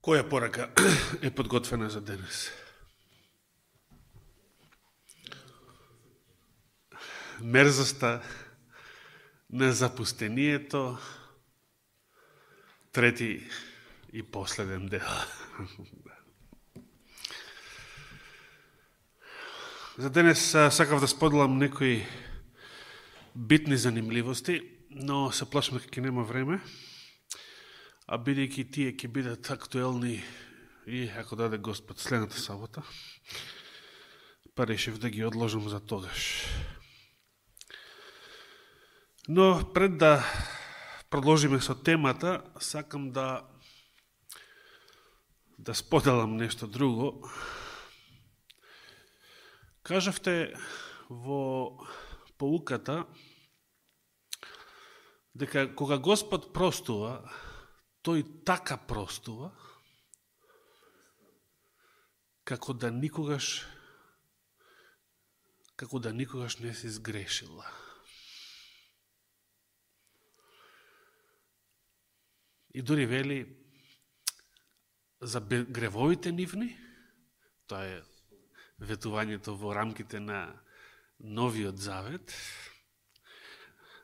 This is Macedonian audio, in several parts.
Која порака е подготвена за денес? Мерзоста, незапустението, трети и последен дел. За денес сакав да споделам некои битни занимливости, но се плашам дека ќе нема време, а бидејќи тие ќе бидат актуелни и ако даде Господ следната сабота, па решив да ги одложам за тогаш. Но пред да продолжиме со темата, сакам да споделам нешто друго. Кажавте во поуката дека кога Господ простува, тој така простува, како да никогаш не си сгрешила. И дори вели за гревовите нивни, тоа е ветувањето во рамките на Новиот Завет,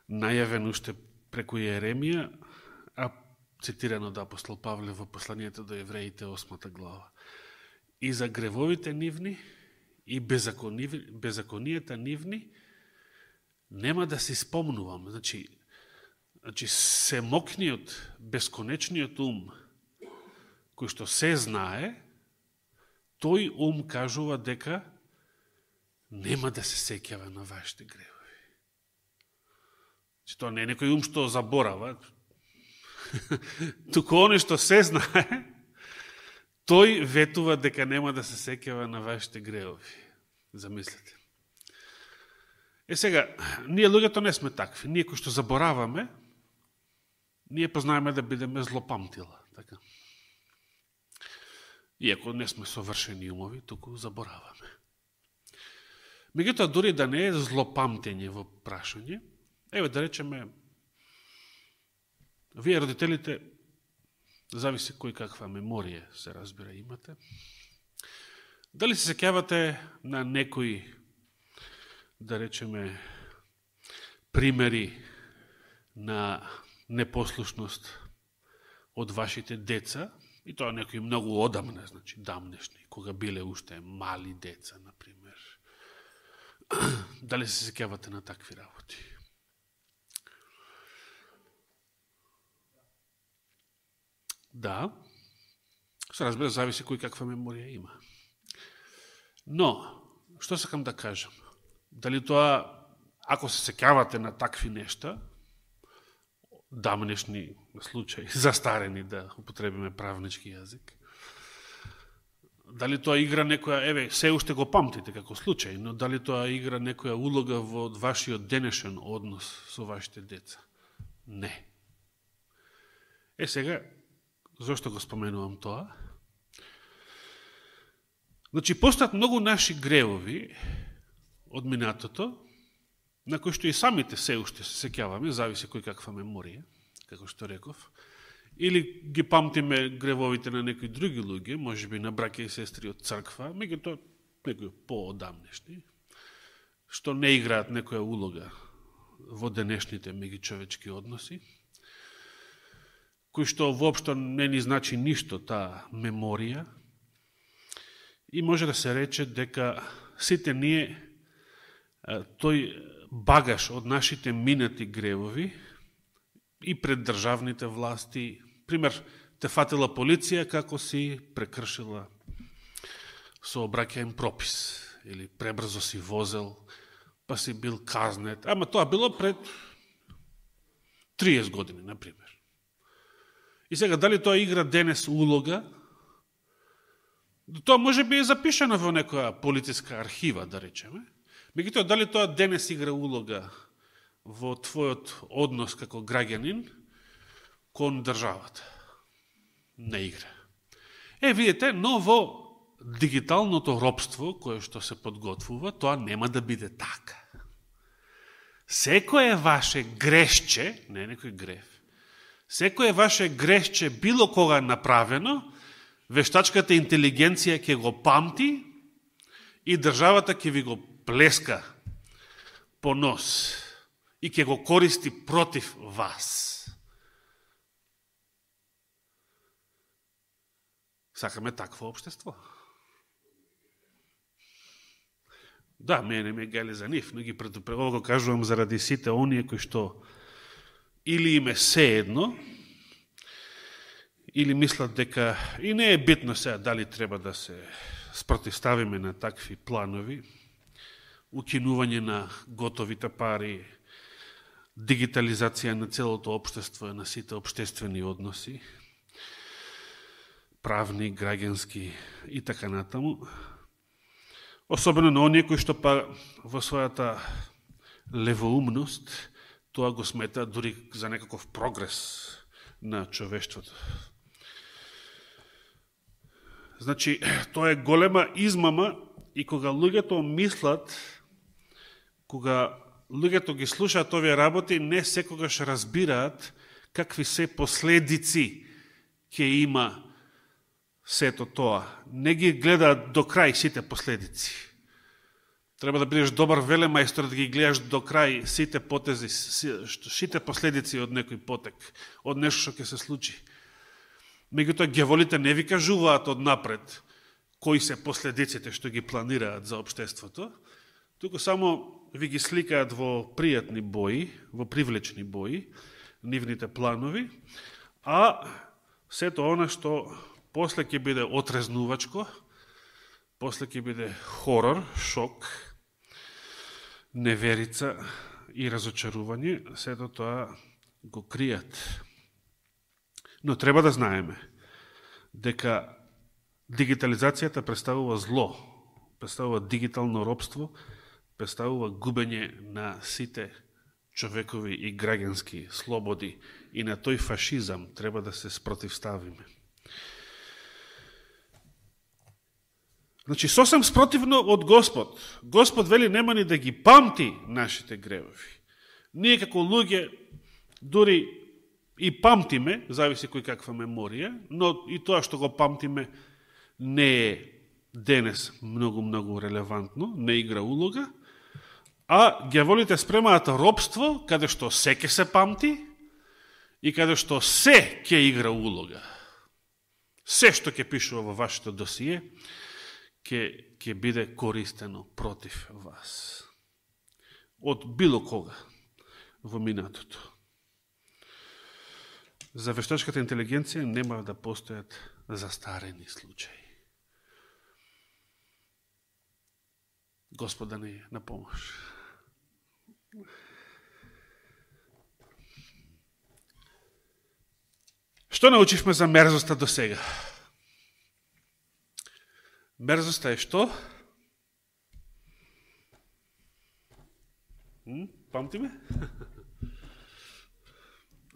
најавен уште преку Јеремија, а цитирано од апостол Павле во посланието до евреите 8 глава. И за гревовите нивни и беззаконијата нивни нема да си спомнувам. Значи семокниот, бесконечниот ум, кој што се знае, тој ум кажува дека нема да се сеќава на вашите гревови. Значи, тоа не е некој ум што заборава, туку оне што се знае, тој ветува дека нема да се сеќава на вашите гревови. Замислете. Сега, ние луѓето не сме такви. Ние кои што забораваме, ние познаеме да бидеме злопамтила. Така. Иако не сме совршени умови, туку забораваме. Меѓутоа, дори да не е злопамтење во прашање, еве да речеме, вие родителите, зависи кој каква меморија се разбира имате, дали се сеќавате на некои, да речеме, примери на непослушност од вашите деца, и тоа некои многу одамна, значи дамнешни, кога биле уште мали деца, например. Дали се сеќавате на такви работи? Да, се разбира, зависи кој каква меморија има. Но, што сакам да кажам? Дали тоа, ако се сеќавате на такви нешта, дамнешни случаи, застарени, да употребиме правнички јазик, дали тоа игра некоја, еве, се уште го памтите како случај, но дали тоа игра некоја улога во вашиот денешен однос со вашите деца? Не. Сега, зошто го споменувам тоа? Значи, постојат многу наши гревови од минатото, на кои што и самите се уште се сеќаваме, зависи кој каква меморија, како што реков, или ги памтиме гревовите на некои други луѓе, можеби на браќа и сестри од црква, меѓутоа некои поодамнешни, што не играат некоја улога во денешните меѓучовечки односи, кој што воопшто не ни значи ништо таа меморија, и може да се рече дека сите ние тој багаж од нашите минати гревови и пред државните власти, пример, те фатила полиција како си прекршила сообраќаен пропис, или пребрзо си возел, па си бил казнет, ама тоа било пред 30 години, например. И сега, дали тоа игра денес улога? Тоа може би е запишено во некоја полициска архива, да речеме. Меѓутоа, дали тоа денес игра улога во твојот однос како граѓанин кон државата? Не игра. Видите, но во дигиталното робство, кое што се подготвува, тоа нема да биде така. Секое ваше грешче, не некој грев, секое ваше грешче било кога направено, вештачката интелигенција ќе го памти и државата ќе ви го плеска по нос и ќе го користи против вас. Сакаме такво општество. Да, мене ме гали за нив, но ги предупредувам, го кажувам заради сите оние кои што или им е сеедно, или мислат дека и не е битно сега дали треба да се спротивставиме на такви планови, укинување на готовите пари, дигитализација на целото општество, на сите општествени односи, правни, граѓански и така натаму. Особено на оние кои што па во својата левоумност тоа го смета дури за некаков прогрес на човештвото. Значи, тоа е голема измама и кога луѓето мислат, кога луѓето ги слушаат овие работи, не секогаш разбираат какви се последици ќе има сето тоа. Не ги гледаат до крај сите последици. Треба да бидеш добар велемајстор да ги гледаш до крај сите потези, сите последици од некој потек, од нешто што ќе се случи. Меѓутоа, ѓаволите не ви кажуваат од напред кои се последиците што ги планираат за општеството, туку само ви ги сликаат во пријатни бои, во привлечни бои, нивните планови, а сето она што после ќе биде отрезнувачко, после ќе биде хорор, шок, неверица и разочарување, сето тоа го кријат. Но треба да знаеме дека дигитализацијата представува зло, представува дигитално робство, представува губење на сите човекови и граѓански слободи и на тој фашизам треба да се спротивставиме. Значи, сосем спротивно од Господ. Господ вели нема ни да ги памти нашите гревови. Ние како луѓе дури и памтиме, зависи кој каква меморија, но и тоа што го памтиме не е денес многу релевантно, не игра улога, а ѓаволите спремаат робство, каде што се ќе се памти и каде што се ќе игра улога. Се што ќе пишува во вашето досие, ќе биде користено против вас. Од било кога во минатото. За вештачката интелигенција нема да постојат застарени случаи. Господа ни на помош. Што научивме за мерзоста до сега? Мерзоста е што? Памтиме?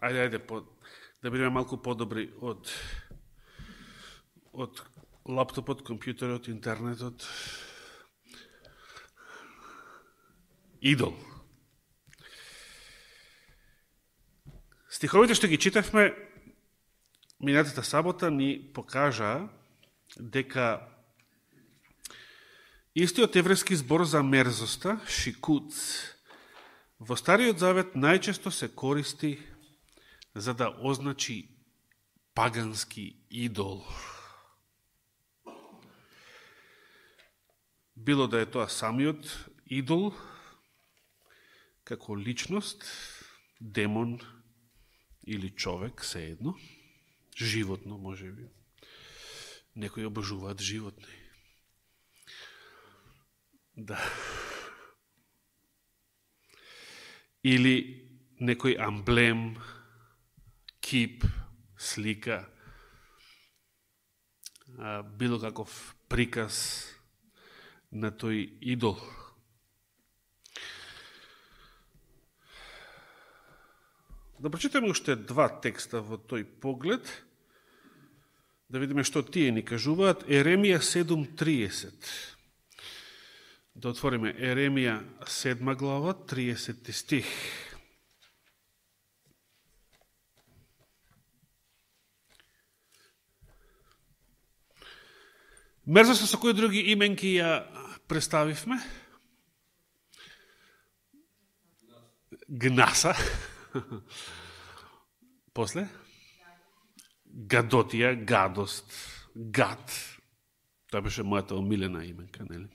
Ајде, да бидеме малку подобри од лаптопот, компјутерот, интернетот. Идол. Стиховите што ги читавме минатата сабота ни покажаа дека истиот еврејски збор за мерзоста, шикуц, во Стариот Завет најчесто се користи за да означи пагански идол. Било да е тоа самиот идол, како личност, демон или човек, сеедно, животно, може би. Некои обожуваат животни. Да. Или некој амблем, кип, слика, било каков приказ на тој идол. Да прочитаме уште два текста во тој поглед, да видиме што тие ни кажуваат. Еремија 7.30. Да отвориме Еремија 7 глава, 30 стих. Мерзоста со кои други именки ја представивме? Гнаса. После? Гадотија, гадост, гад. Тоа беше мојата омилена именка, нели?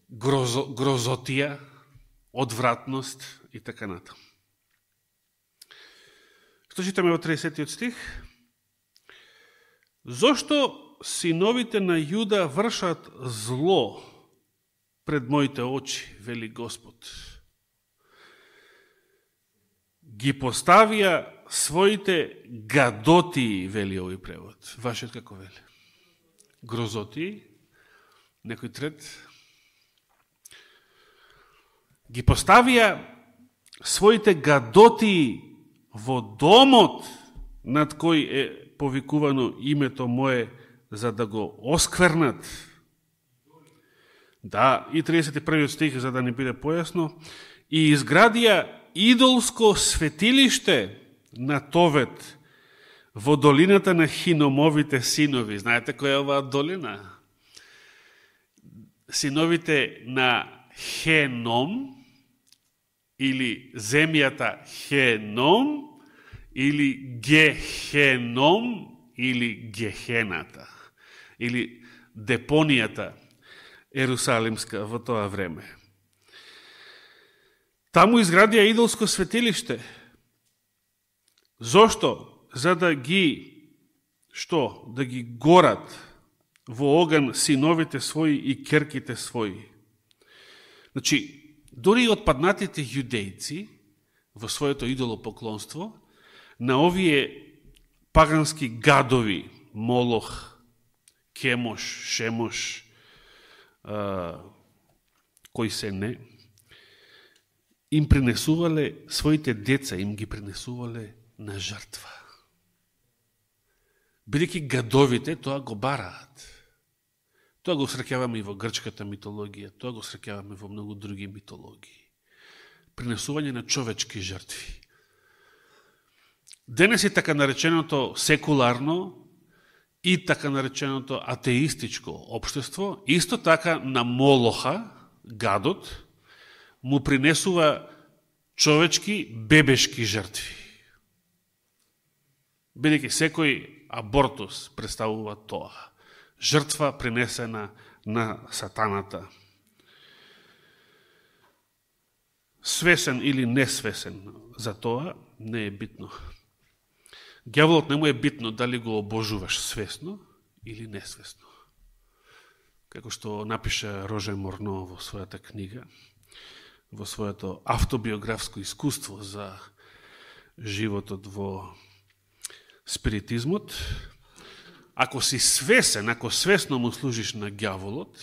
Грозотија, одвратност и така натаму. Што читаме во 30 стих? Зошто синовите на Јуда вршат зло пред моите очи, вели Господ? Ги поставија своите гадотии, вели овој превод. Вашиот како вели? Грозотии. Некој трет. Ги поставија своите гадотии во домот над кој е повикувано името мое, за да го осквернат. Да, и 31 стих, за да не биде појасно. И изградија идолско светилиште на Товет во долината на Хиномовите синови. Знаете која е оваа долина? Синовите на Хеном, или земјата Хеном, или Гехеном, или Гехената, или депонијата ерусалимска во тоа време. Таму изградија идолско светилиште. Зошто? За да ги, што? Да ги горат во оган синовите своји и керките своји. Значи, дори и отпаднатите јудејци во своето идолопоклонство, на овие пагански гадови, Молох, Кемош, Шемош, кои се не, им принесувале своите деца, им ги принесувале на жртва. Бидејќи гадовите тоа го бараат. Тоа го среќаваме и во грчката митологија, тоа го среќаваме во многу други митологии. Принесување на човечки жртви. Денес е така нареченото секуларно и така нареченото атеистичко општество, исто така на Молоха, гадот, му принесува човечки, бебешки жртви. Бидејќи секој абортус представува тоа. Жртва принесена на сатаната. Свесен или несвесен за тоа не е битно. Ѓаволот не му е битно дали го обожуваш свесно или несвесно. Како што напиша Роже Морно во својата книга, во своето автобиографско искуство за животот во спиритизмот, ако си свесен, ако свесно му служиш на ѓаволот,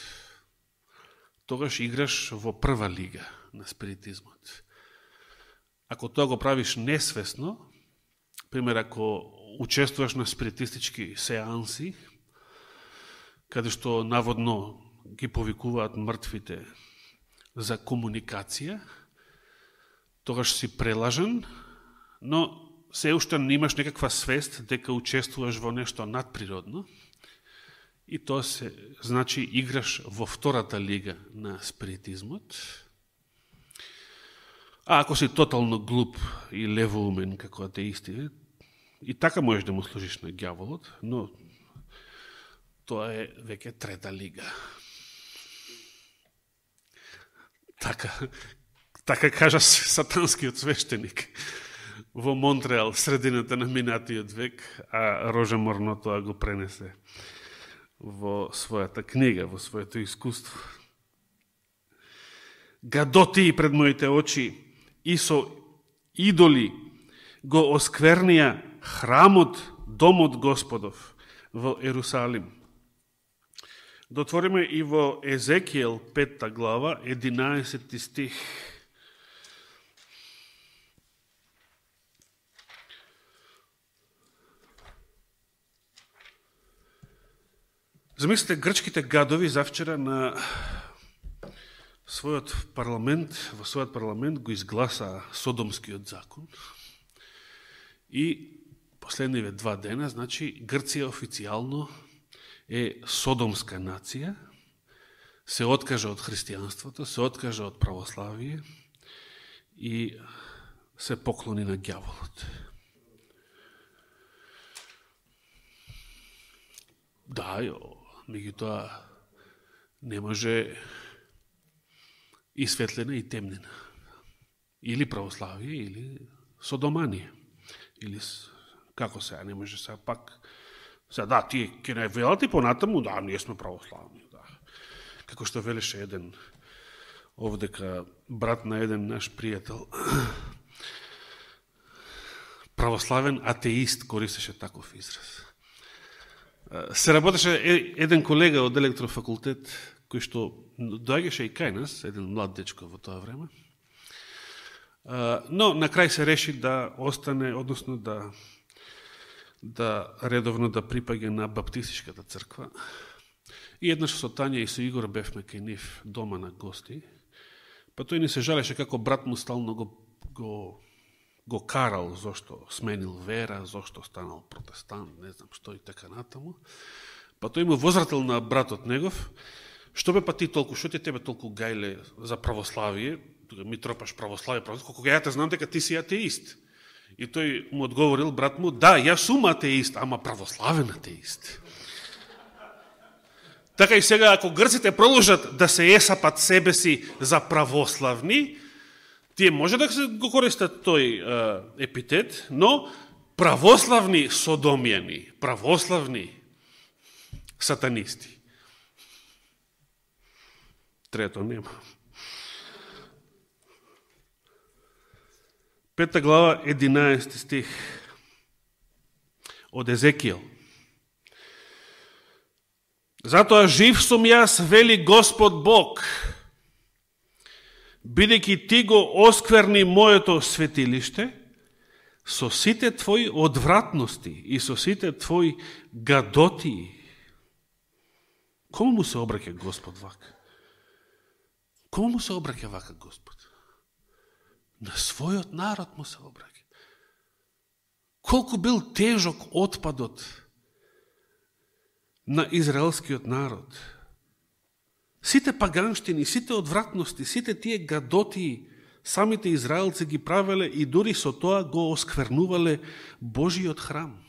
тогаш играш во прва лига на спиритизмот. Ако тоа го правиш несвесно, пример, ако учествуваш на спиритистички сеанси, каде што наводно ги повикуваат мртвите за комуникација, тогаш си прелажен, но се уште не имаш некаква свест дека учествуваш во нешто надприродно, и тоа се значи играш во втората лига на спиритизмот. А ако си тотално глуп и левоумен како атеисти, и така можеш да му служиш на ѓаволот, но тоа е веќе трета лига. Така кажа сатанскиот свештеник во Монтреал, средината на минатиот век, а Роже Морно тоа го пренесе во својата книга, во своето искуство. Гадоти пред моите очи и со идоли го осквернија храмот, домот Господов во Ерусалим. Дотвориме и во Езекијел 5 глава, 11 стих. Замислите, грчките гадови завчера на својот парламент, во својот парламент го изгласаа Содомскиот закон и последниве 2 дена, значи Грција официјално е содомска нација, се откажа од христијанството, се откажа од православие и се поклони на ѓаволот. Да, меѓутоа не може и светлина и темнина. Или православие, или содоманија. Или, како сега, не може сега пак... Сега, да, тие ке не велат и понатаму, да, ние сме православни. Да. Како што велеше еден овдека брат на еден наш пријател, православен атеист користеше таков израз. Се работеше еден колега од електрофакултет, кој што доаѓаше и кај нас, еден млад дечко во тоа време, но на крај се реши да остане, односно да редовно да припаѓа на баптистичката црква. И еднаш со Тања и со Игор бевме кај нив дома на гости, па тој ни се жалеше како брат му стално го карал зошто сменил вера, зошто станал протестант, не знам што и така натаму. Па тој му возвратил на братот негов, што бе па ти толку, што ти тебе толку гајле за православие, ми тропаш православие, колку ја те знам дека ти си атеист. И тој му одговорил, брат му, да, јас сум атеист, ама православен атеист. Така и сега, ако грците продолжат да се есапат себе си за православни, тие може да го користат тој епитет, но православни содомјани, православни сатанисти. Трето нема. 5 глава, 11 стих од Езекијел. Затоа жив сум јас, вели Господ Бог, бидејќи ти го оскверни моето светилиште со сите твои одвратности и со сите твои гадоти. Кому му се обраќа Господ вака? Кому му се обраќа вака Господ? На својот народ му се обраќа. Колку бил тежок отпадот на израелскиот народ. Сите паганштини, сите одвратности, сите тие гадоти, самите израелци ги правеле и дури со тоа го осквернувале Божиот храм,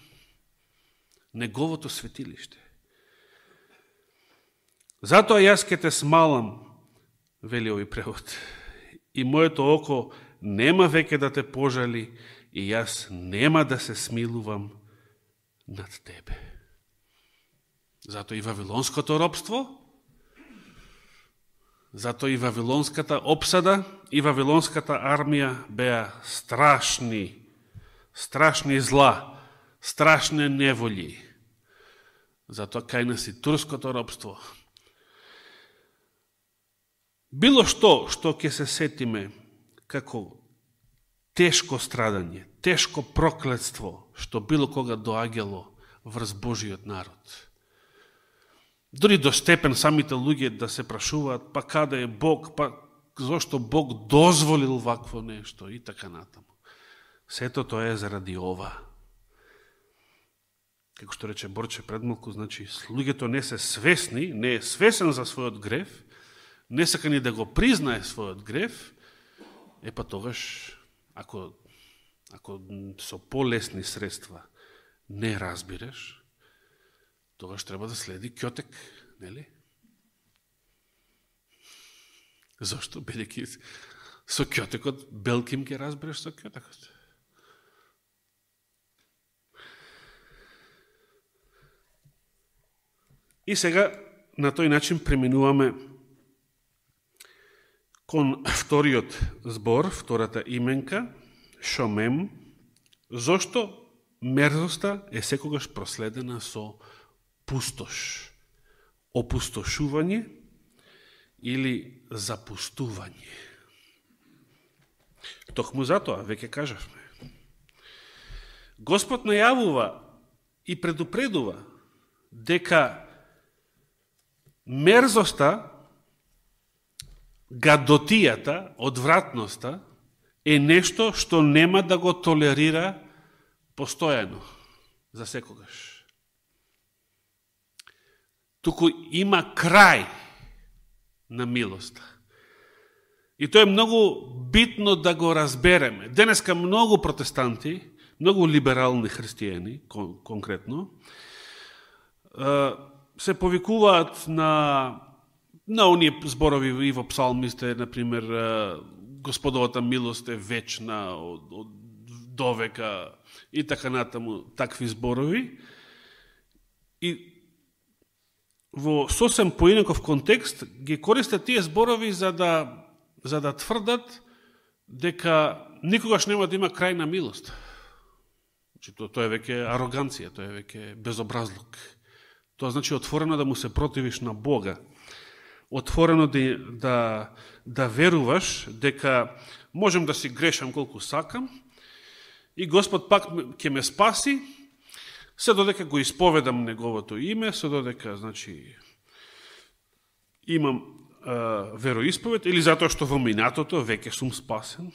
неговото светилиште. Затоа јас ке те смалам, вели овој превод, и моето око нема веќе да те пожали и јас нема да се смилувам над тебе. Затоа и вавилонското робство, затоа и вавилонската опсада и вавилонската армија беа страшни зла, страшни неволји. Затоа кај нас и турското робство. Било што ќе се сетиме како тешко страдање, тешко проклетство, што било кога доаѓало врз Божиот народ. Дори до степен самите луѓе да се прашуваат, па каде е Бог, па зошто Бог дозволил вакво нешто и така натаму. Сето тоа е заради ова. Како што рече Борче пред малку, значи, луѓето не се свесни, не е свесен за својот грев, не сака ни да го признае својот грев, па тогаш, ако со полесни средства не разбираш, тогаш треба да следи ќотек, нели? Зошто? Бидејќи со ќотекот белким ќе разбереш со ќотекот. И сега на тој начин преминуваме кон вториот збор, втората именка, шомем, зошто мерзоста е секогаш проследена со пустош, опустошување или запустување. Токму затоа, веќе кажавме, Господ најавува и предупредува дека мерзоста, гадотијата, одвратноста е нешто што нема да го толерира постојано. за секогаш. Туку има крај на милоста. И тоа е многу битно да го разбереме. Денеска многу протестанти, многу либерални христијани, конкретно, се повикуваат на оние зборови и во псалмите, например, Господовата милост е вечна од довека и така натаму, такви зборови. И во сосем поинаков контекст ги користат тие зборови за да тврдат дека никогаш нема да има крај на милост. Тоа е веќе ароганција, тоа е веќе безобразлук. Тоа значи отворено да му се противиш на Бога. Отворено да веруваш дека можем да си грешам колку сакам и Господ пак ќе ме спаси, се додека го исповедам Неговото име, се додека, значи, имам вероисповед, или затоа што во минатото веќе сум спасен.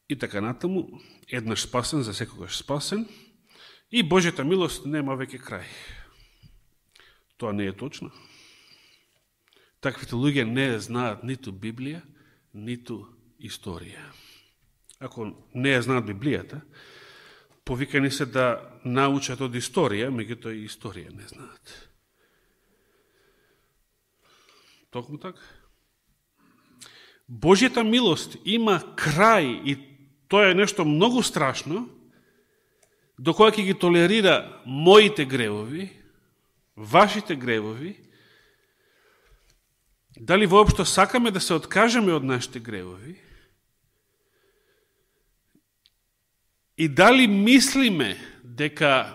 И така натаму, еднаш спасен, за секогаш спасен, и Божјата милост нема веќе крај. Тоа не е точно. Таквите луѓе не знаат ниту Библија, ниту историја. Ако не ја знаат Библијата, повикани се да научат од историја, меѓутоа и историја не знаат. Токму така. Божјата милост има крај и тоа е нешто многу страшно, до која ќе ги толерира моите гревови, вашите гревови. Дали воопшто сакаме да се откажеме од нашите гревови? И дали мислиме дека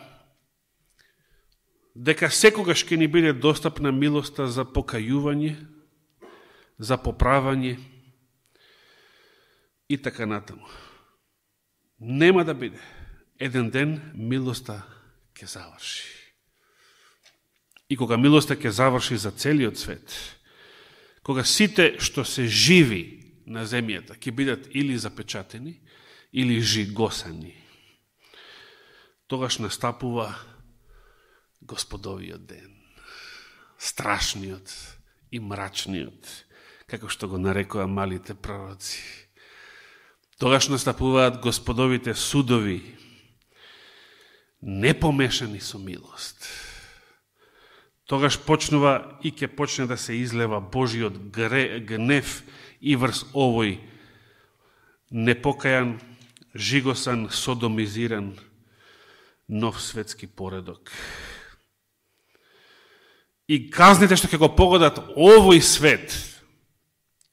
секогаш ќе ни биде достапна милоста за покајување, за поправање и така натаму? Нема да биде. Еден ден милоста ќе заврши. И кога милоста ќе заврши за целиот свет, кога сите што се живи на земјата ќе бидат или запечатени, или жигосани, тогаш настапува Господовиот ден. Страшниот и мрачниот, како што го нарекоа малите пророци. Тогаш настапуваат Господовите судови, непомешани со милост. Тогаш почнува и ќе почне да се излева Божиот гнев и врз овој непокајан, жигосан, содомизиран нов светски поредок. И казните што ќе го погодат овој свет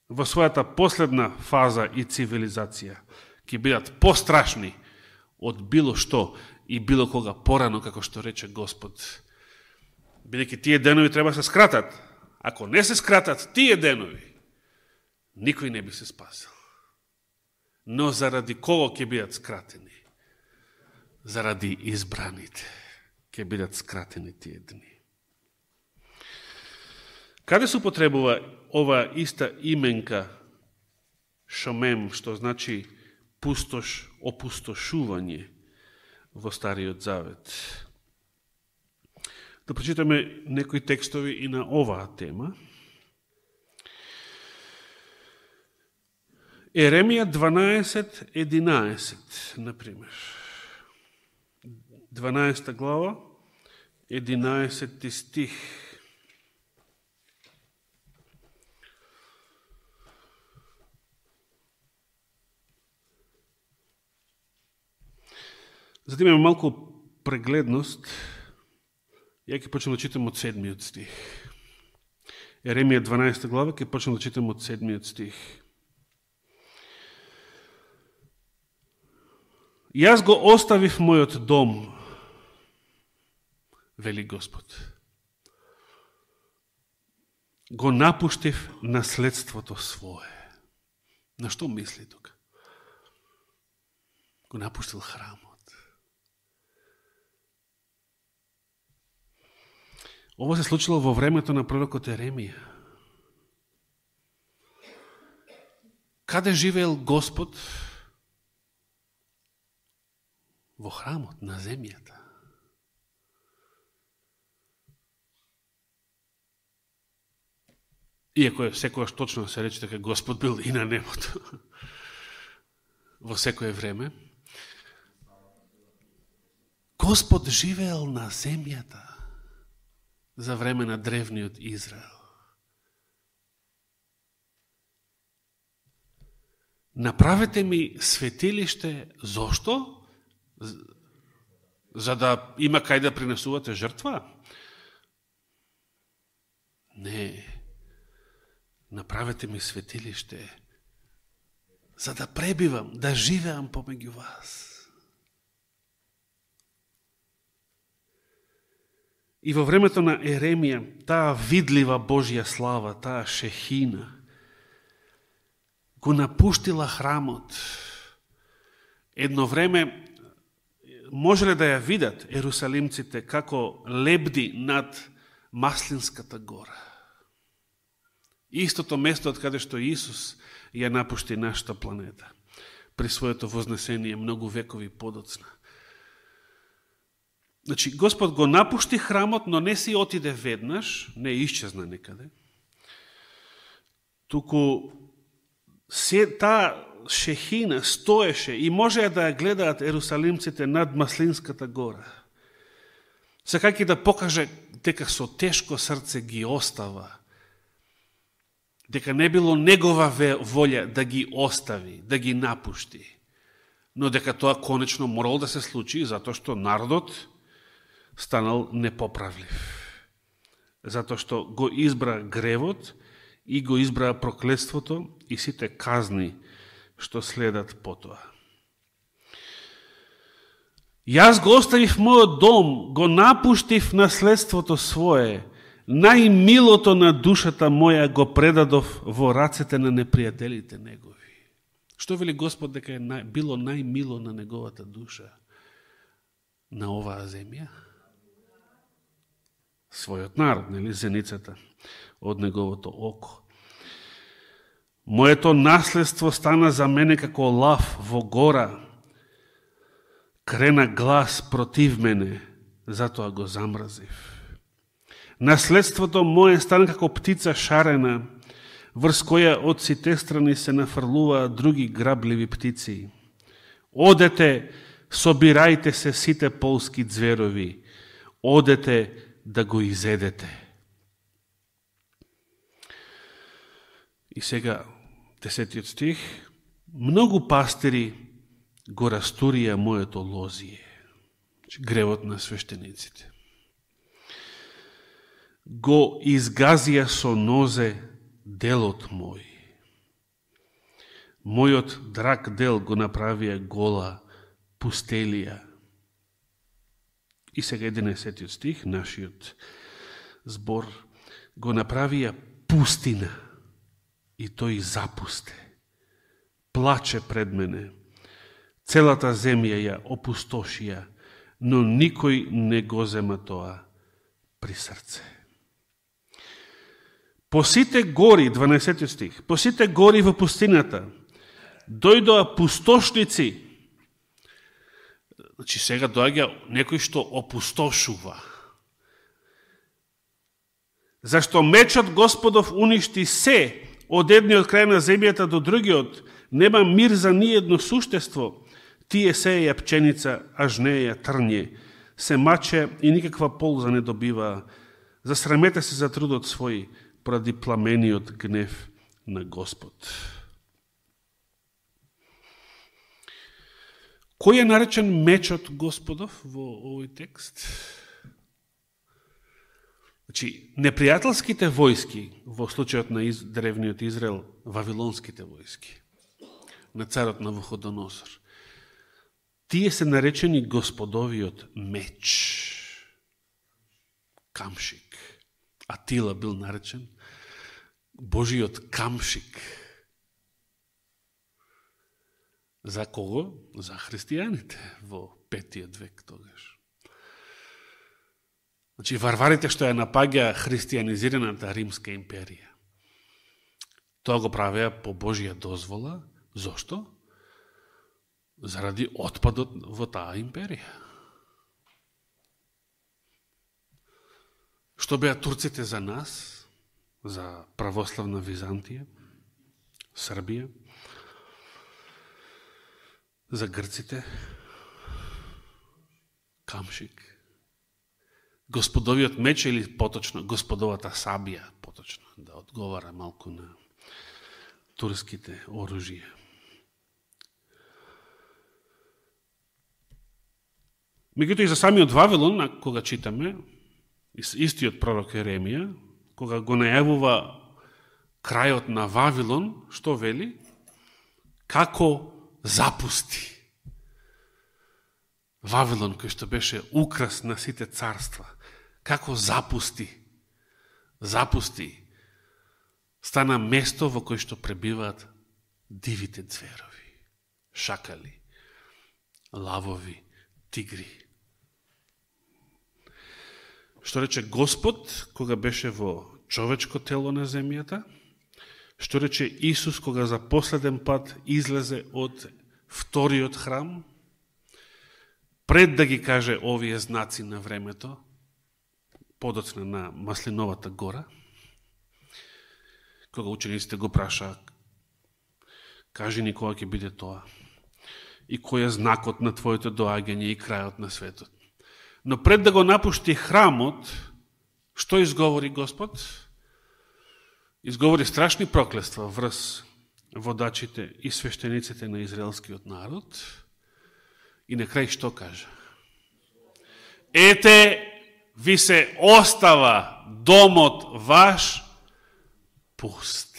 во својата последна фаза и цивилизација ќе бидат пострашни од било што и било кога порано, како што рече Господ. Бидејќи тие денови треба се скратат. Ако не се скратат тие денови, никој не би се спасил. Но заради кого ќе бидат скратени? Заради избраните ќе бидат скратени тие дни. Каде се употребува ова иста именка шомем, што значи пустош, опустошување во Стариот Завет? Да прочитаме некои текстови и на оваа тема. Еремија 12:11, например. 12 глава, 11 стих. За да имаме малку прегледност, ја ќе почнем да читам од 7 стих. Еремија 12 глава, ќе почнем да читам од 7 стих. Јас го оставив мојот дом, вели Господ. Го напуштив наследството свое. На што мисли тука? Го напуштил храмот. Ова се случило во времето на пророкот Еремија. Каде живеел Господ? во храмот, на земјата. Иако е секојаш точно се рече дека Господ бил и на небото, во секое време, Господ живеел на земјата за време на древниот Израел. Направете ми светилиште, зошто? За да има кај да принесувате жртва? Не. Направете ми светилиште, за да пребивам, да живеам помеѓу вас. И во времето на Еремија, таа видлива Божја слава, таа шехина, го напуштила храмот. Едно време можеле да ја видат ерусалимците како лебди над Маслинската гора. Истото место од каде што Исус ја напушти нашата планета при своето вознесение многу векови подоцна. Значи, Господ го напушти храмот, но не си отиде веднаш, не исчезна некаде. Туку таа шехина стоеше и можеа да ја гледаат ерусалимците над Маслинската гора. Сакајќи да покаже дека со тешко срце ги остава, дека не било негова волја да ги остави, да ги напушти, но дека тоа конечно морало да се случи, затоа што народот станал непоправлив. Затоа што го избра гревот и го избра проклетството и сите казни што следат потоа. Јас го оставив мојот дом, го напуштив наследството свое, најмилото на душата моја го предадов во рацете на непријателите негови. Што вели Господ дека е било најмило на неговата душа на оваа земја? Својот народ, нели, зеницата од неговото око. Моето наследство стана за мене како лав во гора, крена глас против мене, затоа го замразив. Наследството мое стана како птица шарена, врз која од сите страни се нафрлуваат други грабливи птици. Одете, собирајте се сите полски зверови, одете да го изедете. И сега, 10 стих, многу пастири го растурија моето лозие, гревот на свештениците. Го изгазија со нозе делот мој. Мојот драг дел го направија гола пустелија. И сега 11 стих, нашиот збор, го направија пустина и тој запусте. Плаче пред мене. Целата земја ја опустошија, но никој не го зема тоа при срце. По сите гори, 12 стих, по сите гори во пустината, дојдоа пустошници. Значи сега доаѓа некој што опустошува. Зашто мечот Господов уништи се, од едниот крај на земјата до другиот, нема мир за ниедно суштество. Тие сеја пченица, а жнеја трње, се маче и никаква полза не добива. Засрамете се за трудот свој, поради пламениот гнев на Господ. Кој е наречен мечот Господов во овој текст? Значи, непријателските војски, во случајот на древниот Израел, вавилонските војски, на царот Навуходоносор, тие се наречени Господовиот меч. Камшик. Атила бил наречен Божиот камшик. За кого? За христијаните во 5 век тогаш. Значи, варварите што ја напаѓа христијанизираната Римска империја. Тоа го правеа по Божија дозвола. Зошто? заради отпадот во таа империја. Што беа турците за нас, за православна Византија, Србија, за грците, камшик, господовиот меч или поточно господовата сабија, поточно, да одговара малку на турските оружија. Меѓутоа и за самиот Вавилон, кога читаме, истиот пророк Еремија, кога го најавува крајот на Вавилон, што вели? Како запусти. Вавилон, кој што беше украс на сите царства, како запусти. Запусти. Стана место во кој што пребиваат дивите зверови, шакали, лавови, тигри. Што рече Господ, кога беше во човечко тело на земјата, што рече Исус, кога за последен пат излезе од вториот храм, пред да ги каже овие знаци на времето, подоцна на Маслиновата гора, кога учениците го праша, кажи ни кога ќе биде тоа, и кој е знакот на твоето доаѓање и крајот на светот. Но пред да го напушти храмот, што изговори Господ? Изговори страшни проклества врз водачите и свештениците на израелскиот народ и на крај што кажа? Ете, ви се остава домот ваш пуст.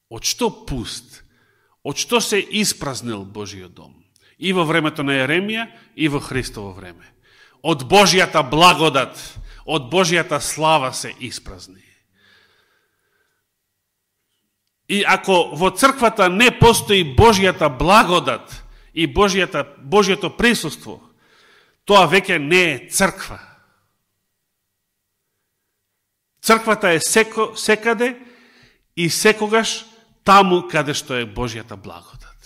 Од што пуст? Од што се испразнил Божиот дом? И во времето на Еремија, и во Христово време. Од Божијата благодат, од Божијата слава се испразни. И ако во црквата не постои Божијата благодат и Божијето присуство, тоа веќе не е црква. Црквата е секаде и секогаш таму каде што е Божијата благодат.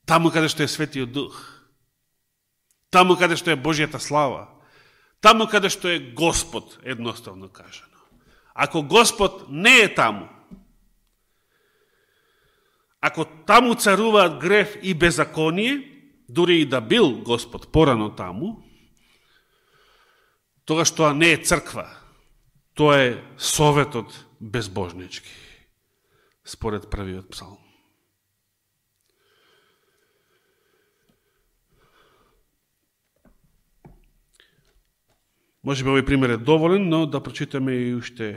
Таму каде што е Светиот Дух. Таму каде што е Божијата слава. Таму каде што е Господ, едноставно кажано. Ако Господ не е таму, ако таму царуваат грев и беззаконие, дури и да бил Господ порано таму, тогаш тоа не е црква, тоа е советот безбожнички, според првиот псалм. Може би овој пример е доволен, но да прочитаме и уште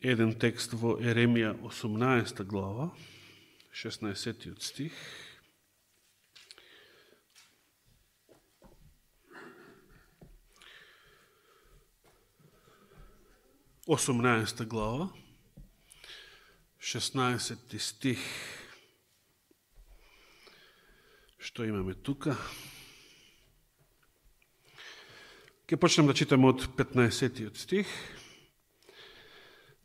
еден текст во Еремија 18 глава, 16 стих. Осумнаеста глава, 16 стих. Што имаме тука? Ке почнем да читаме од 15 стих.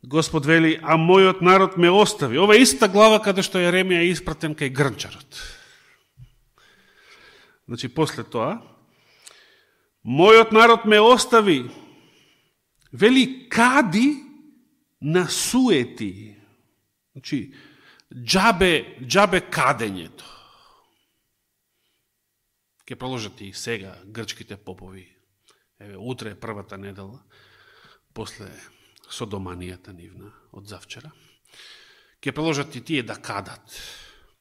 Господ вели, а мојот народ ме остави. Ова е иста глава каде што Еремија е испратен кај грнчарот. Значи, после тоа, мојот народ ме остави, вели, кади на суети. Значи, джабе кадењето. Ке проложат и сега грчките попови. Еве, утре е првата недела, после содоманијата нивна од завчера. Ке проложат и тие да кадат.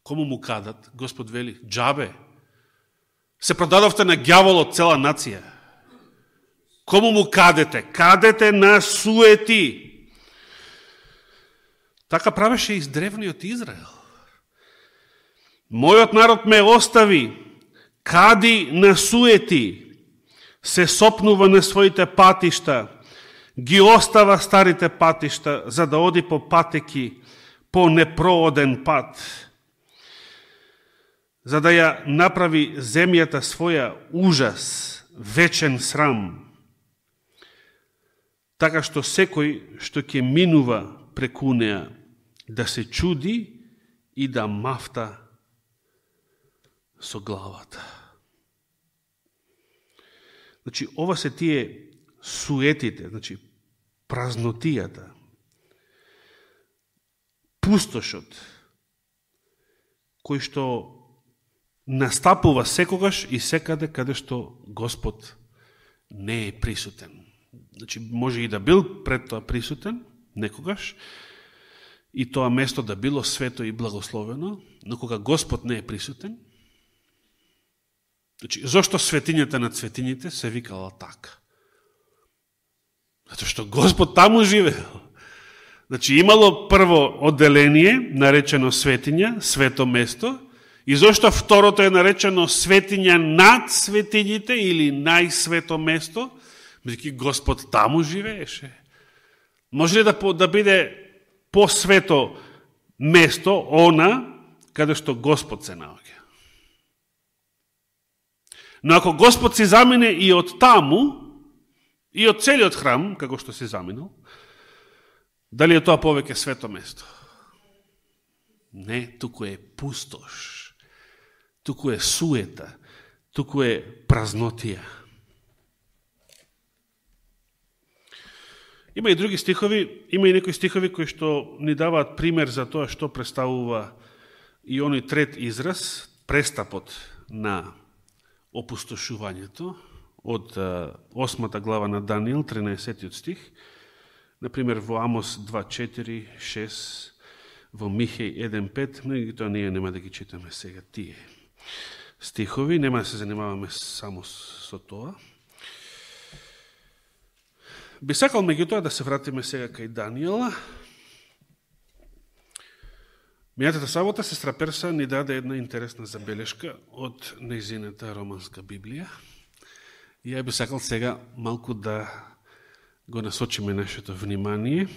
Кому му кадат? Господ вели, джабе. Се продадовте на ѓаволот цела нација. Кому му кадете? Кадете на суети. Така правеше и древниот Израел. Мојот народ ме остави, кади на суети, се сопнува на своите патишта, ги остава старите патишта, за да оди по патеки, по непрооден пат, за да ја направи земјата своја ужас, вечен срам, така што секој што ќе минува преку неа, да се чуди и да мафта со главата. Значи, ова се тие суетите, значи, празнотијата, пустошот, кој што настапува секогаш и секаде каде што Господ не е присутен. Значи, може и да бил пред тоа присутен, некогаш, и тоа место да било свето и благословено, но кога Господ не е присутен, значи, зошто светињата на светињите се викала така? Зато што Господ таму живеел. Значи, имало прво одделение, наречено светиња, свето место, и зошто второто е наречено светиња над светињите или најсвето место, меѓутоа Господ таму живееше. Може ли да биде посвето место, она, каде што Господ се наоѓа? Но ако Господ си замине и од таму, и од целиот храм, како што си заминал, дали е тоа повеќе свето место? Не, туку е пустош, туку е суета, туку е празнотија. Има и други стихови, има и некои стихови кои што ни даваат пример за тоа што представува и оној трет израз, престапот на опустошувањето, од 8 глава на Даниил, 13 стих, например во Амос 2.4, 6, во Михеј 1.5, но и тоа ние нема да ги читаме сега тие стихови, нема да се занимаваме само со тоа. Би сакал меѓутоа да се вратиме сега кај Даниела. Мијатата сабота сестра Перса ни даде една интересна забелешка од нејзината романска Библија. И ја би сакал сега малку да го насочиме нашето внимание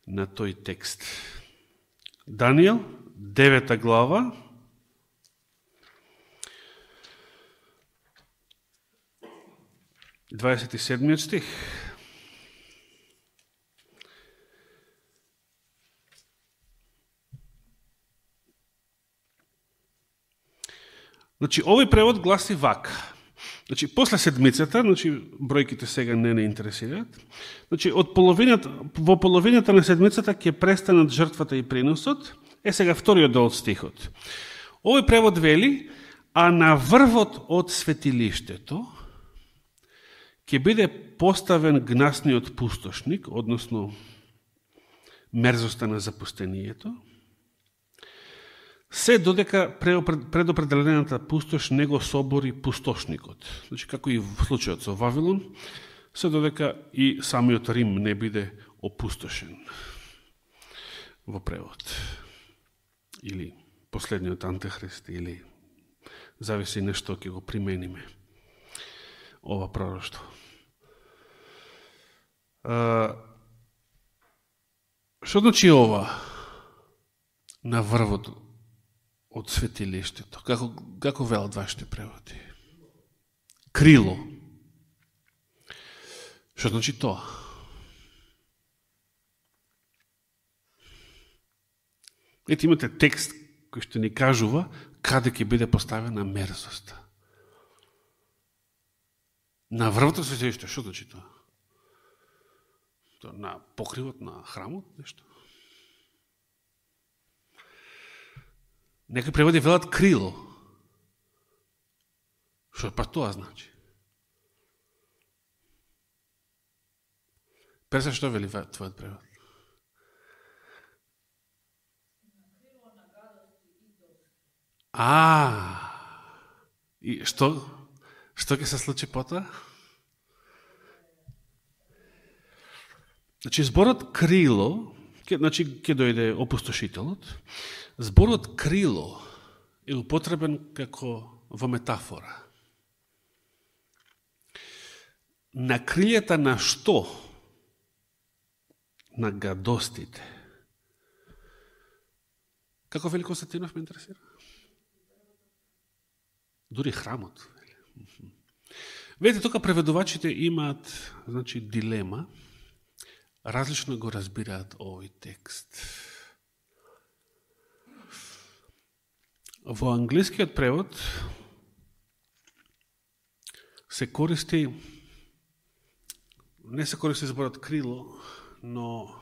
на тој текст. Даниел, 9 глава, дваесет и седмиот стих. Значи, овој превод гласи вака. Значи, после седмицата, значи, бројките сега не интересираат, значи, во половината на седмицата ќе престанат жртвата и приносот, е сега вториот дел од стихот. Овој превод вели, а на врвот од светилиштето ќе биде поставен гнасниот пустошник, односно мерзоста на запустението, се додека предопределената пустош не го собори пустошникот. Значи, како и в случајот со Вавилон, се додека и самиот Рим не биде опустошен во превод. Или последниот антихрист, или зависи нешто ќе го примениме ова пророштво. Што значи ова на врвот од светилиштето? Како велат вашите преводи? Крило. Што значи тоа? Ете, имате текст кој што ни кажува каде ќе биде поставена мерзоста. На врвот од светилиштето, што значи тоа? На покривот на храмот, нешто? Некои преводи велат крило. Што па тоа значи? Перса, што вели твојот превод? И што ќе се случи потоа? Значи, зборот крило, значи, ќе дојде опустошителот, зборот крило е употребен како во метафора. На крилјата на што? На гадостите. Како вели Константинов, ме интересира? Дури храмот. Видите, тука преведувачите имаат, значи, дилема, различно го разбираат овој текст. Во англискиот превод не се користи зборот крило, но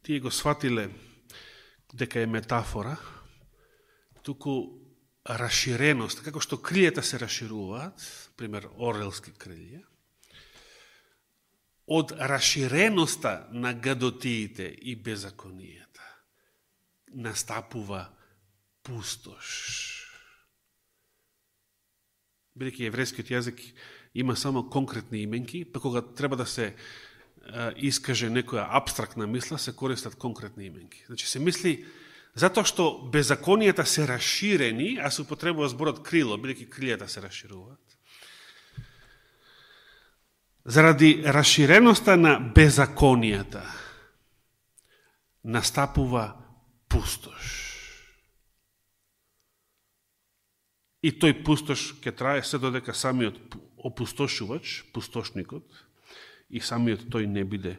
тие го сватиле дека е метафора, туку расширеност, како што крилјата се расшируваат, пример орелски крилја, од расширеноста на гадотиите и беззаконијата настапува пустош. Бидејќи еврејскиот јазик има само конкретни именки, па кога треба да се искаже некоја абстрактна мисла, се користат конкретни именки. Значи се мисли, затоа што беззаконијата се расширени, а се употребува зборот крило, бидејќи крилјата се расшируваат. Заради расширеноста на беззаконијата настапува пустош. И тој пустош ќе трае се додека самиот опустошувач, пустошникот, и самиот тој не биде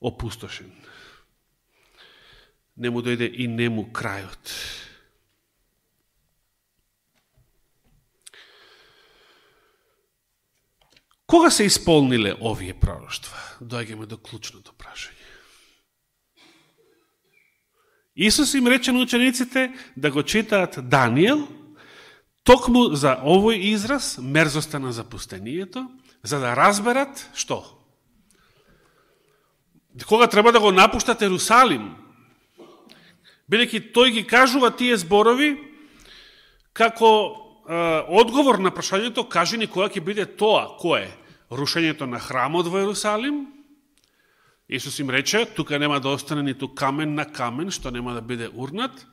опустошен. Не му дојде и не му крајот. Кога се исполниле овие пророштва? Доаѓаме до клучното прашање. Исус им рече на учениците да го читаат Даниел, токму за овој израз, мерзоста на запустението, за да разберат што? Кога треба да го напуштат Ерусалим, бидејќи тој ги кажува тие зборови како одговор на прашањето, кажи ни која ќе биде тоа, кое? Рушењето на храмот во Ерусалим? Исус им рече, тука нема да остане ниту камен на камен, што нема да биде урнат.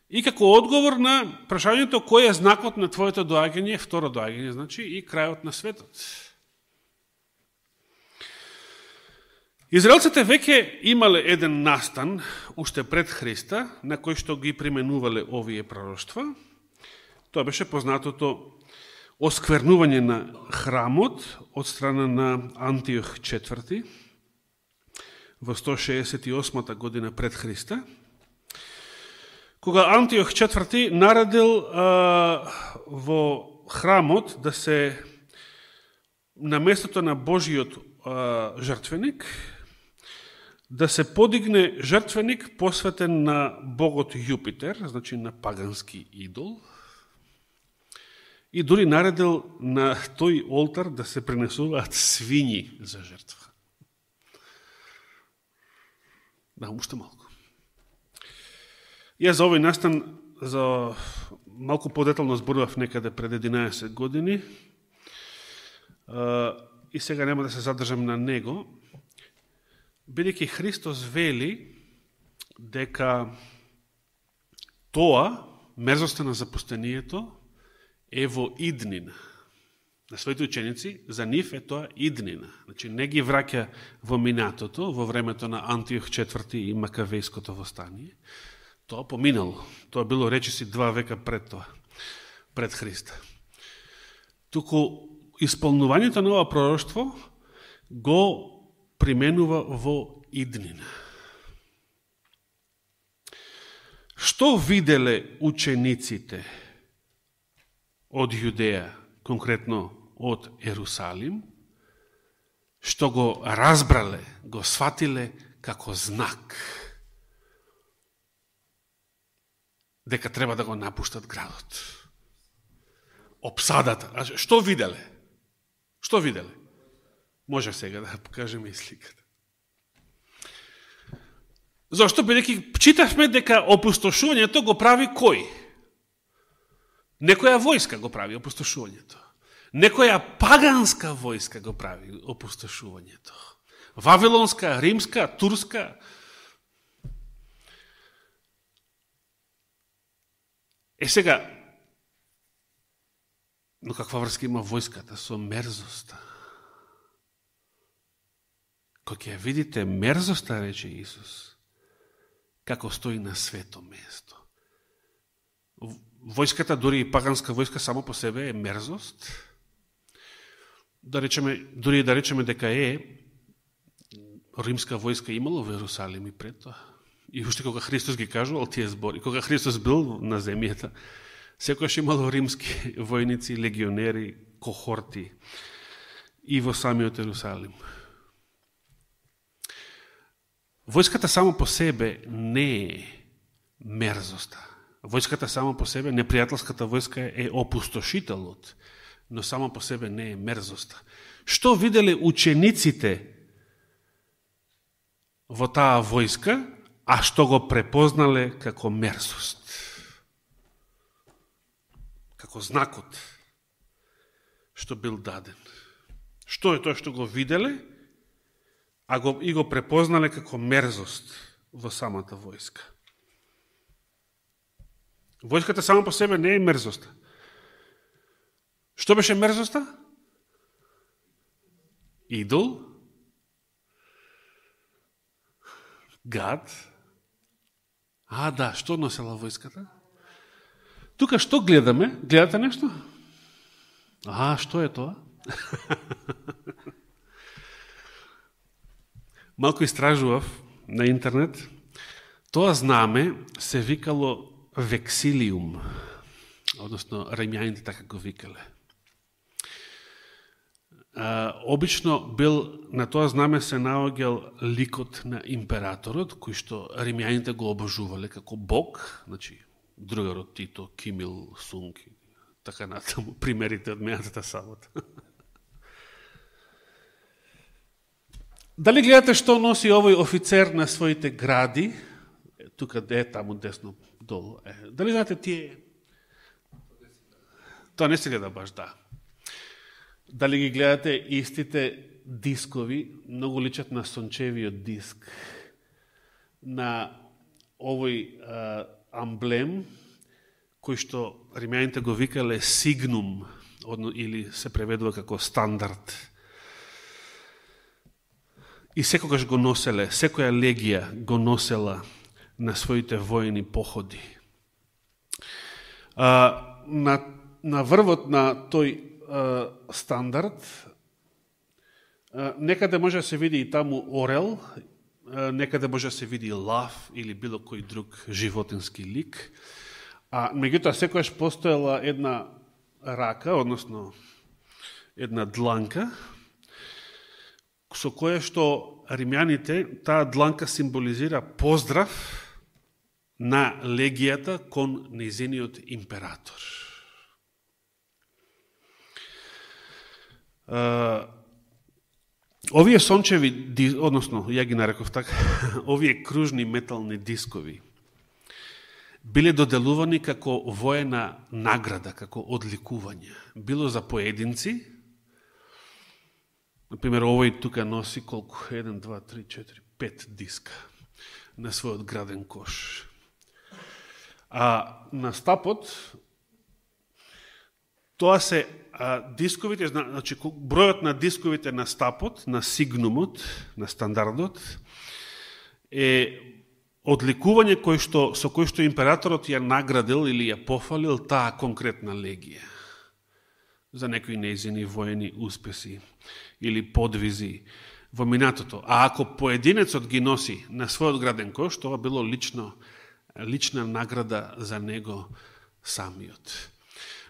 И како одговор на прашањето, кој е знакот на твоето доаѓање, второ доаѓање, значи, и крајот на светот. Израелците веќе имале еден настан, уште пред Христа, на кој што ги применувале овие пророштва. Тоа беше познатото осквернување на храмот од страна на Антиох IV во 168 година пред Христа, кога Антиох IV наредил во храмот да се на местото на Божиот жртвеник да се подигне жртвеник посветен на богот Јупитер, значи на пагански идол, и дури наредил на тој олтар да се принесуваат свињи за жртва. Да, уште малку. Јас за овој настан за малку подетално зборував некаде пред 11 години и сега нема да се задржам на него, бидејќи Христос вели дека тоа, мерзоста на запустението, е во иднина. На своите ученици, за нив е тоа иднина. Значи, не ги враќа во минатото, во времето на Антиох IV и Макавејското востание. Тоа поминало. Тоа било речиси 2 века пред тоа, пред Христа. Туку исполнувањето на ова пророштво го применува во иднина. Што виделе учениците од Јудеја, конкретно од Ерусалим, што го разбрале, го сватиле како знак дека треба да го напуштат градот? Опсадата. А што виделе? Што виделе? Може сега да покажеме и сликата. Зошто? Бидејќи читавме дека опустошувањето го прави кој? Некоја војска го прави опустошувањето. Некоја паганска војска го прави опустошувањето. Вавилонска, римска, турска. Сега, но каква врска има војската со мерзоста? Кога ќе видите мерзоста, рече Исус, како стои на свето место. Војската, дури и паганска војска, само по себе е мерзост. Дури да речеме дека е, римска војска имало во Ерусалим и пред тоа. И уште кога Христос ги кажувал тие збори, кога Христос бил на земјата, секојаш имало римски војници, легионери, кохорти и во самиот Ерусалим. Војската само по себе не е мерзоста. Војската само по себе, непријателската војска е опустошителот, но само по себе не е мерзоста. Што виделе учениците во таа војска, а што го препознале како мерзост? Како знакот што бил даден. Што е тоа што го виделе, и го препознале како мерзост во самата војска? Војската само по себе не е мерзоста. Што беше мерзоста? Идол, гад. Да, што носела војската? Тука што гледаме? Гледате нешто? Што е тоа? Малку истражував на интернет. Тоа знаме се викало вексилиум, односно римјаните така го викале. Обично бил на тоа знаме се наоѓал ликот на императорот, кој што римјаните го обожувале како бог, значи другарот Тито, Ким Ил Сунг, така натаму, примерите од минатата сабота. Дали гледате што носи овој офицер на своите гради? Тука е таму десно долу. Дали знаете тие? Тоа не се гледа баш, да. Дали ги гледате истите дискови, многу личат на сончевиот диск, на овој амблем, кој што римјаните го викале сигнум, или се преведува како стандард. И секогаш го носеле, секоја легија го носела на своите војни походи. На врвот на тој стандард, некаде може да се види и таму орел, некаде може да се види лав или било кој друг животински лик, меѓутоа секојаш постоела една рака, односно една дланка, со која што римјаните, таа дланка символизира поздрав на легијата кон нејзиниот император. Овие сончеви, односно, ја ги нареков така, овие кружни метални дискови биле доделувани како воена награда, како одликување. Било за поединци, например, овој тука носи колку? 1, 2, 3, 4, 5 диска на својот граден кош. На стапот, тоа се дисковите, значи бројот на дисковите на стапот, на сигнумот, на стандардот, е одликување со кој што императорот ја наградил или ја пофалил таа конкретна легија за некои нејзини воени успеси или подвизи во минатото. Ако поединецот ги носи на својот граден кош, тоа било лична награда за него самиот.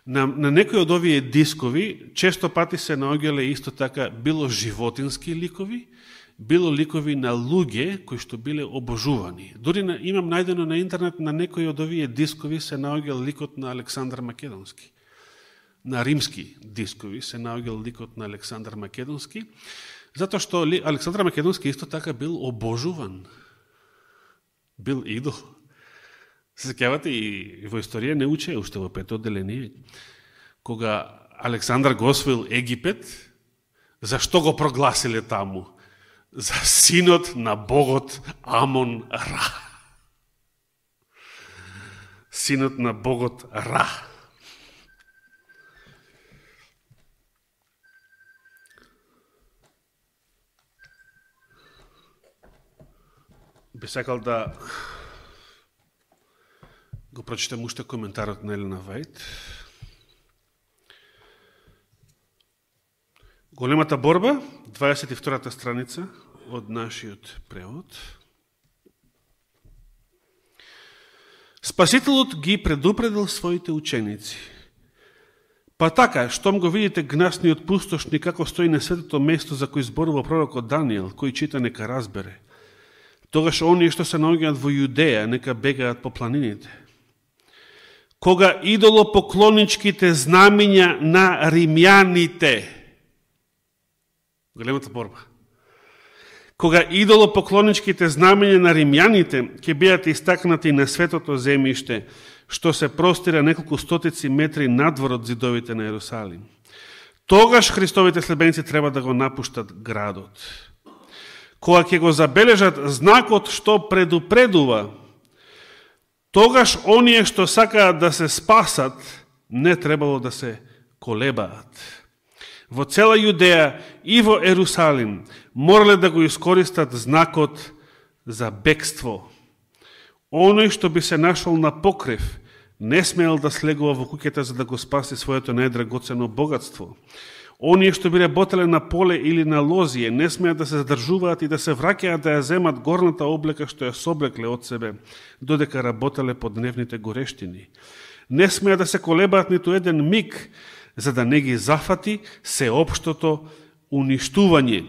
На некои од овие дискови често пати се наоѓале исто така било животински ликови, било ликови на луѓе кои што биле обожувани. Дори имам најдено на интернет на некои од овие дискови се наоѓал ликот на Александар Македонски. На римски дискови се наоѓал ликот на Александар Македонски, затоа што Александар Македонски исто така бил обожуван. Бил идол. Се сеќавате и во историја не уче, уште во пето одделение, кога Александар го освоил Египет, зашто го прогласиле таму? За синот на богот Амон-Ра. Синот на богот Ра. Би сакал да го прочитам уште коментарот на Елена Вајд. Големата борба, 22-та страница, од нашиот превод. Спасителот ги предупредил своите ученици. Па така, штом го видите гнасниот пустошник како стои на светото место за кој зборува пророкот Даниел, кој чита нека разбере. Тогаш оние што се наоѓаат во Јудеја, нека бегаат по планините. Кога идолопоклоничките знамења на римјаните, големата борба, кога идолопоклоничките знамења на римјаните ќе бидат истакнати на светото земјиште, што се простира неколку стотици метри надвор од зидовите на Ерусалим. Тогаш Христовите следбеници треба да го напуштат градот. Кога ќе го забележат знакот што предупредува, тогаш оние што сакаат да се спасат, не требало да се колебаат. Во цела Јудеја и во Ерусалим морале да го искористат знакот за бегство. Оној што би се нашол на покрив, не смеел да слегува во куќата за да го спаси своето најдрагоцено богатство. Оние што би работеле на поле или на лозие, не смеат да се задржуваат и да се враќаат да ја земат горната облека што ја соблекле од себе, додека работеле под дневните горештини. Не смеат да се колебаат ниту еден миг, за да не ги зафати сеопштото уништување.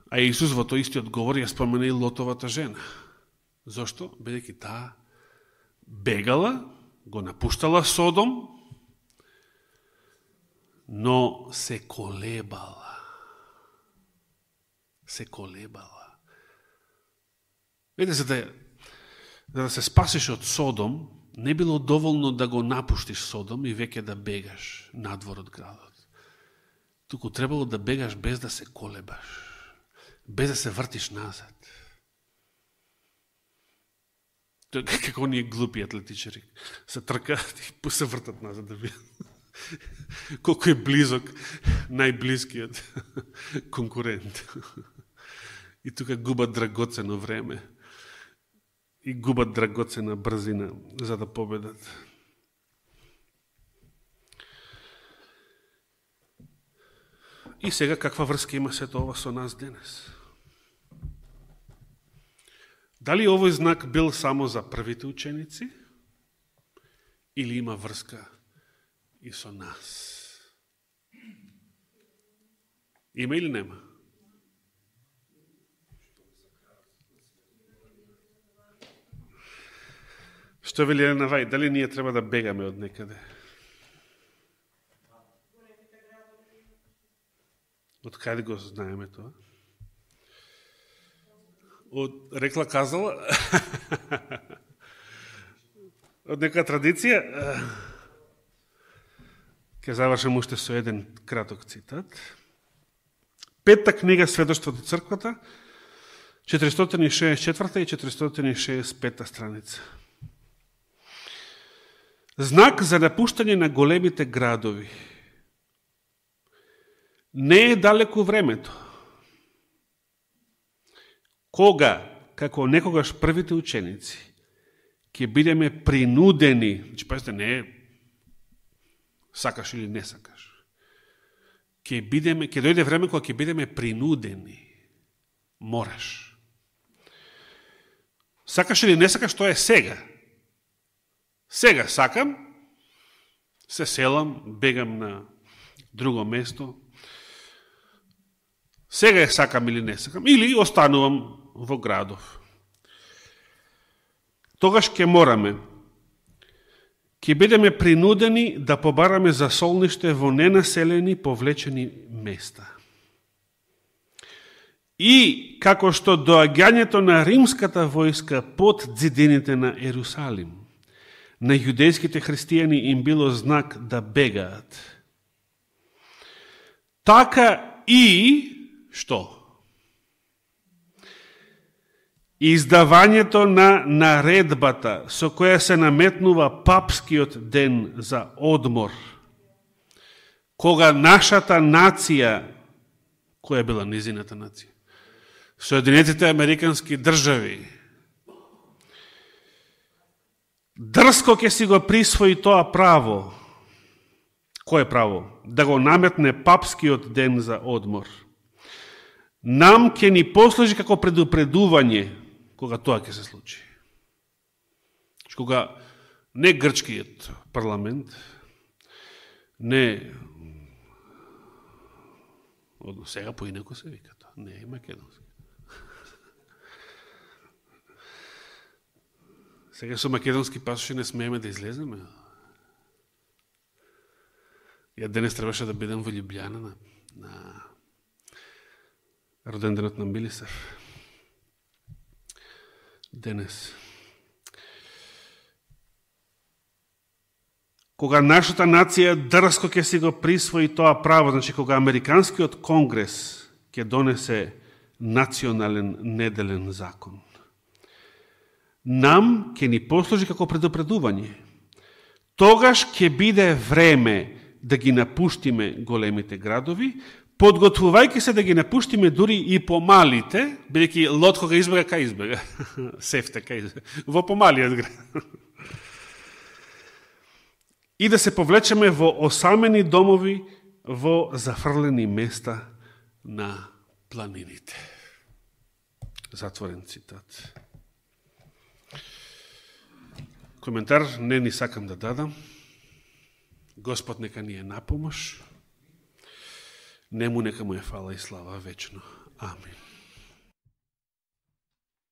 А Исус во тој истиот говор ја спомена и Лотовата жена. Зошто? Бидејќи таа бегала, го напуштала Содом, но се колебала. Се колебала. Видите, за да се спасиш од Содом, не било доволно да го напуштиш Содом и веќе да бегаш надвор од градот. Туку требало да бегаш без да се колебаш, без да се вртиш назад. Како оние глупи атлетичари се тркаат и се вртат назад да видат колко е близок најблискиот конкурент. И тука губат драгоцено време и губат драгоцена брзина за да победат. И сега каква врска има сето ова со нас денес? Дали овој знак бил само за првите ученици или има врска и со нас? Има или нема? Што вели Елена Вајд, дали ние треба да бегаме од некаде? Од каде го знаеме тоа? Од рекла казала? Од некоја традиција? Ке завршам уште со еден краток цитат. Петта книга Сведоштвото црквата, 464 и 465 страница. Знак за напуштање на големите градови. Не е далеко времето, кога, како некогаш првите ученици, ќе бидеме принудени, значи пазите, не е сакаш или не сакаш, ќе дојде време кога ќе бидеме принудени, мораш. Сакаш или не сакаш, тоа е сега. Сега сакам, се селам, бегам на друго место, сега е сакам или не сакам, или останувам во градов. Тогаш ќе мораме, ќе бидеме принудени да побараме за солниште во ненаселени, повлечени места. И како што доаѓањето на римската војска под ѕидините на Ерусалим, на јудејските христијани им било знак да бегаат. Така и што? Издавањето на наредбата со која се наметнува папскиот ден за одмор, кога нашата нација, која била низината нација? Соединетите Американски држави, дрско ќе си го присвои тоа право. Кој право? Да го наметне папскиот ден за одмор. нам ќе ни послужи како предупредување кога тоа ќе се случи. Кога не грчкиот парламент, не сега поинако се вика тоа, не е македонски. Сега со македонски пасоши не смееме да излеземе. Ја денес требаше да бидам во Љубљана на роденденот на Милисар. Денес. Кога нашата нација дрско ќе си го присвои тоа право, значи кога Американскиот конгрес ќе донесе национален неделен закон, нам ќе ни послужи како предупредување. Тогаш ќе биде време да ги напуштиме големите градови, подготвувајќи се да ги напуштиме дури и помалите, бидејќи Лот кога избега, кај избега? Сефте, кај избега? Во помалиот град. И да се повлечеме во осамени домови, во зафрлени места на планините. Затворен цитат. Коментар не ни сакам да дадам. Господ нека ни е напомош. Нему нека му е фала и слава вечно. Амин.